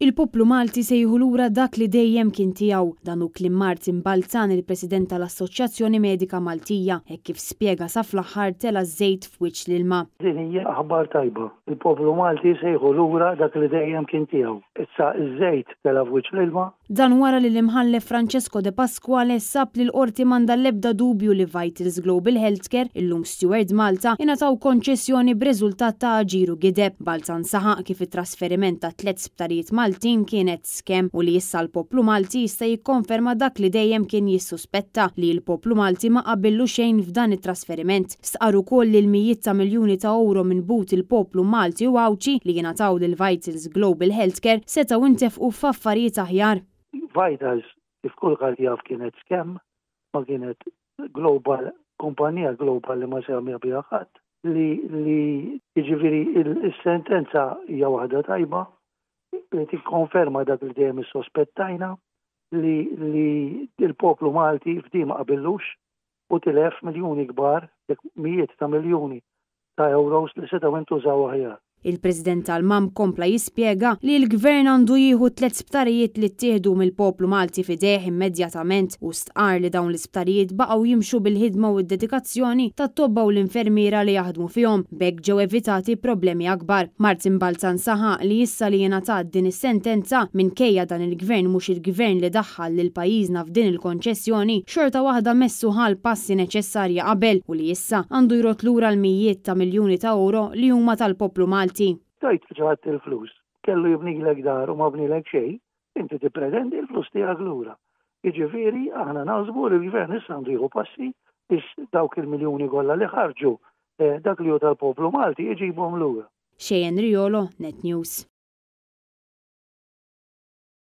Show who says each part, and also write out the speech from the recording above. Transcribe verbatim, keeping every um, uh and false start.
Speaker 1: Il-poplu Malti se jieħu lura dak li dejjem kien tiegħu. Dan hu kliem Martin Balzan, il-President tal-Assoċjazzjoni Medika Maltija, hekk kif spjega sa fl-aħħar tela' żejt f'wiċċ l-ilma.
Speaker 2: Din hija aħbar tajba. Il-poplu Malti se jieħu lura dak li dejjem kien tiegħu. Issa iż-żejt tela' f'wiċċ l-ilma.
Speaker 1: Dan wara li l-Imħallef Francesco De Pasquale sab li l-qorti m'għandha l-ebda dubju li Vitals Global Healthcare, illum Steward Malta, ingħataw konċessjoni b'riżultat ta' aġir u gideb. Balzan saħaq kif it-trasferiment ta' tliet sptarijiet Maltin kienet scam u li issa l-poplu Malti jista' jikkonferma dak li dejjem kien jissuspetta, li l-poplu Malti ma qabillu xejn f'dan it-trasferiment. Stqarr ukoll li l-mijiet ta' miljuni ta' euro minn but il-poplu Malti u Għawdxi li jingħataw lil Vitals Global Healthcare setgħu intefqu f'affarijiet aħjar.
Speaker 2: Vitals, kif kulħadd jaf, kienet scam, ma kienet global, kumpanija global li ma semma biha ħadd, li li jiġifieri il-sentenza hija waħda tajba li tikkonferma dak li dejjem issospettajna, li li il-poplu Malti f'di ma qabillux u tilef miljuni kbar, mijiet ta' miljuni ta' euros li setgħu intużaw aħjar.
Speaker 1: Il-President tal-M A M kompla jispjega li l-Gvern għandu jieħu tliet sptarijiet li ttieħdu mill-poplu Malti f'idejh immedjatament u stqar li dawn l-isptarijiet baqgħu jimxu bil-ħidma u d-dedikazzjoni tat-tobba u l-infermiera li jaħdmu fihom, b'hekk ġew evitati problemi akbar. Martin Balzan saħaq li issa li jingħatat din is-sentenza, minkejja dan il-gvern mhux il-gvern li daħħal lil pajjiżna f'din il-konċessjoni, xorta waħda messu ħa l-passi neċessarja qabel u li issa għandu jrodd lura l-mijiet ta' miljuni ta' euro li huma tal-poplu Malti.
Speaker 2: Tajt ġaħat il-flus, kellu jibnilek dar u ma bnilek xejn, inti tippretendi l-flus tiegħek lura. Jiġifieri aħna naħsbu li l-gvern issa għandu jieħu passi biex dawk il-miljuni kollha li ħarġu, eh, dak li hu tal-poplu Malti, jġibhom lura.
Speaker 1: Cheyenne Riolo, Net News.